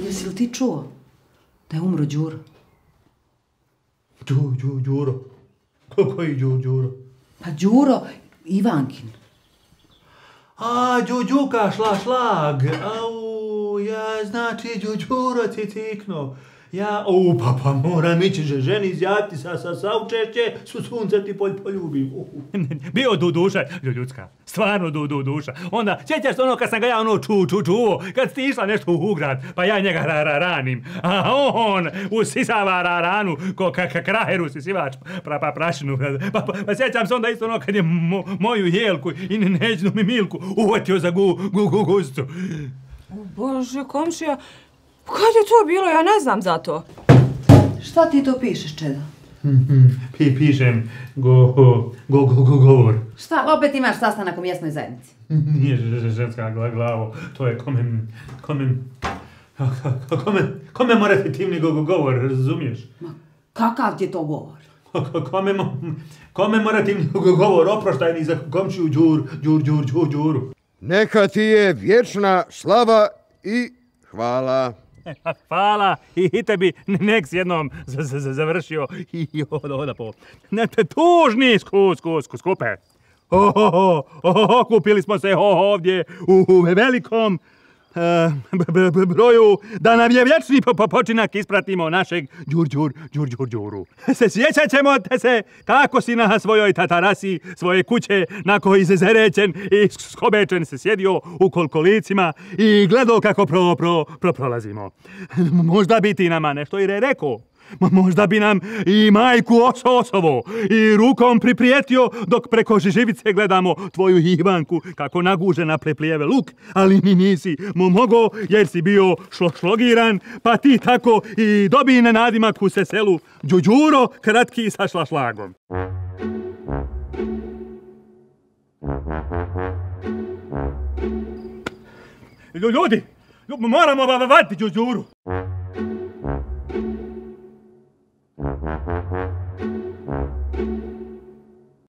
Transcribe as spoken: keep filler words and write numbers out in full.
Jesi li ti čuo da je umro Đuro? Đu, Đu, Đuro? Koji Đu, Đuro? Pa Đuro Ivankin. A, Đu, Đuka, šla, šlag. Au, ja, znači, Đu, Đuro ti tikno. Ja, u, pa, pa moram ići že ženi izjaviti sa, sa, sa učešće, su sunce ti polj poljubim. Uh. Bio du duša, ljudska, stvarno du, du duša. Onda, sjećaš se ono kad sam ga ja ono ču, ču, čuo, kad si išla nešto u grad, pa ja njega ra, ra, ranim, a on usisava ra, ranu, ko ka, ka kraheru sisivač, pra, pa prašinu. Pa, pa, pa sjećam se onda isto ono kad je mo, moju Jelku i neđnu mi Milku uvatio za gu, gu, gu, gustu. Bože, komšija, kad je to bilo? Ja ne znam za to. Šta ti to pišeš, Čeda? Pi, pišem go, go, go, go, govor. Šta, opet imaš sastanak u mjesnoj zajednici? Nije ženska glavo, to je komem, komem, komem, komemorativni go, go, govor, razumiješ? Ma, kakav ti je to govor? Komem, komemorativni go, govor, oproštajni za komšiju Đur, Đur, Đur, Đur, Đuru. Neka ti je vječna slava i hvala. Hvala i tebi nek s jednom završio i oda po. Ne te tužni sku, sku, sku, skupe. Ohoho, ohoho, kupili smo se ovdje u velikom uh, broju da nam je vječni počinak ispratimo našeg Đur, Đur, Đur, Đur, Đuru. Se sjećat ćemo te se kako si na svojoj tatarasi svoje kuće na koji se zerećen i skobečen se sjedio u kolkolicima i gledao kako pro, pro, pro, prolazimo. Možda bi ti nama nešto i re rekao. Možda bi nam i majku oso osovo i rukom priprijetio dok preko živice gledamo tvoju Ivanku kako nagužena preplijeve luk, ali ni nisi mu mogo jer si bio šlo, šlogiran, pa ti tako i dobij na nadimak u se selu Đuđuro kratki sa šlašlagom. Ljudi, moramo vaditi Đuđuru. Ha ha ha.